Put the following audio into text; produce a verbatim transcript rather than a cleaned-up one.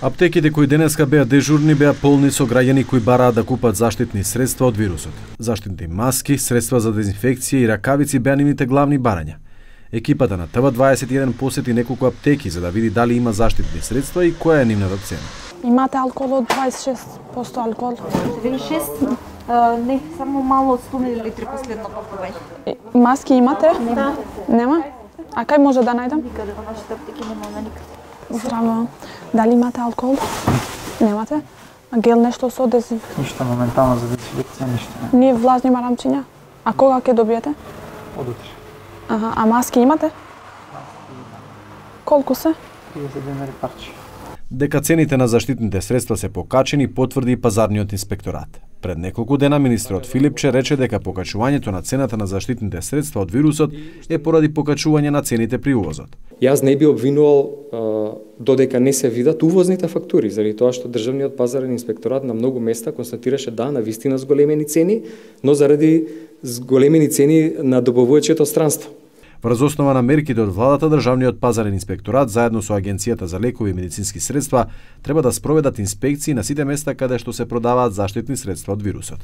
Аптеките кои денеска беа дежурни беа полни со граѓани кои бараат да купат заштитни средства од вирусот. Заштитни маски, средства за дезинфекција и ракавици беа нивните главни барања. Екипата на Т В дваесет и еден посети неколку аптеки за да види дали има заштитни средства и која е нивната цена. Имате алкохол од дваесет и шест проценти алкохол? дваесет и шест? А, не, само мало од сто милилитри последно пакување. Маски имате? Нема. Нема? А кај може да најдам? Никаде во нашите аптеки нема никаде. Здраво. Дали имате алкохол? Немате? А гел нешто со дезинфекција? Ништо моментално за дезинфекција, ништо не. Ние влажни марамчиња? А кога ќе добиете? Од утре. Аха, а маски имате? Колку се? триесет денари парче. Дека цените на заштитните средства се покачени, потврди и пазарниот инспекторат. Пред неколку дена министерот Филипче рече дека покачувањето на цената на заштитните средства од вирусот е поради покачување на цените при увозот. Јас не би обвинувал а, додека не се видат увозните фактури, заради тоа што државниот пазарен инспекторат на многу места констатираше да, на вистина зголемени цени, но заради зголемени цени на добавувачето странство. Врз основа на мерките од владата, државниот пазарен инспекторат заедно со Агенцијата за лекови и медицински средства треба да спроведат инспекции на сите места каде што се продаваат заштитни средства од вирусот.